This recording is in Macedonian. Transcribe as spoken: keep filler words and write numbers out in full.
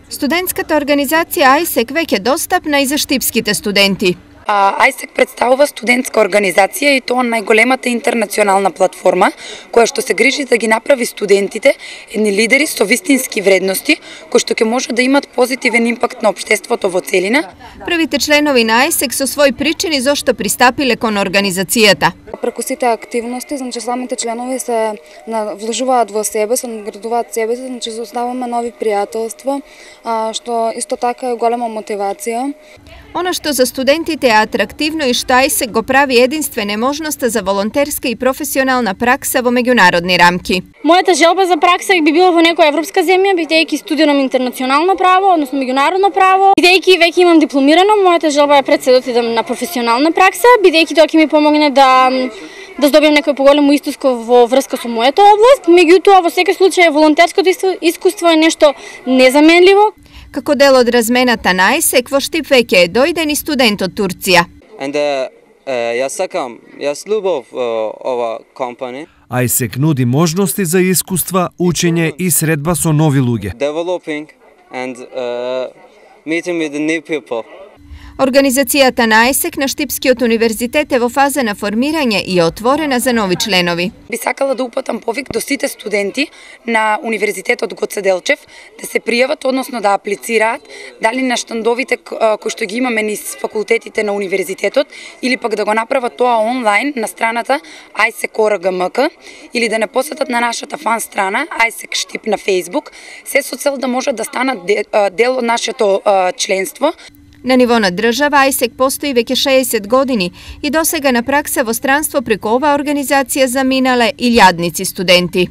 Студентската организација ајсек веќе достапна и за штипските студенти. ајсек представува студентска организација и тоа најголемата интернационална платформа која што се грижи да ги направи студентите едни лидери со вистински вредности кои што ќе може да имат позитивен импакт на општеството во целина. Првите членови на ајсек со своји причини зошто пристапиле кон организацијата. Преку сите активности, значи самите членови се вложуваат во себе, се наградуваат себе, значи создаваме нови пријателства, што исто така е голема мотивација. Она што за студентите е атрактивно и што ајсек го прави единствен е можноста за волонтерска и професионална пракса во меѓународни рамки. Мојата желба за пракса би била во некоја европска земја, бидејќи студирам интернационално право, односно меѓународно право. Бидејќи веќе имам дипломирано, мојата желба е пред се да отидам на професионална пракса, бидејќи тоа ќе ми помогне да да здобиам некој поголемо искуство во врска со мојата област. Меѓутоа, во секој случај, волонтерското искуство е нешто незаменливо. Како дел од размената на ајсек, во Штип веќе е дојден и студент од Турција. Јас сакам, јас љубов ова компанија. ајсек нуди можности за искуства, учење и средба со нови луѓе. Developing and uh, meeting with the new people. Организацијата на ајсек на Штипскиот универзитет е во фаза на формирање и е отворена за нови членови. Би сакала да упатам повик до сите студенти на Универзитетот Гоце Делчев да се пријават, односно да аплицираат, дали на штандовите кои што ги имаме низ факултетите на универзитетот, или пак да го направат тоа онлайн на страната ајсек точка орг точка ем ка, или да не посетат на нашата фан страна ајсек Штип на Facebook, се со цел да можат да станат дел од нашето членство. На ниво на држава ајсек постои веќе шеесет години и досега на пракса во странство преку оваа организација заминале илјадници студенти.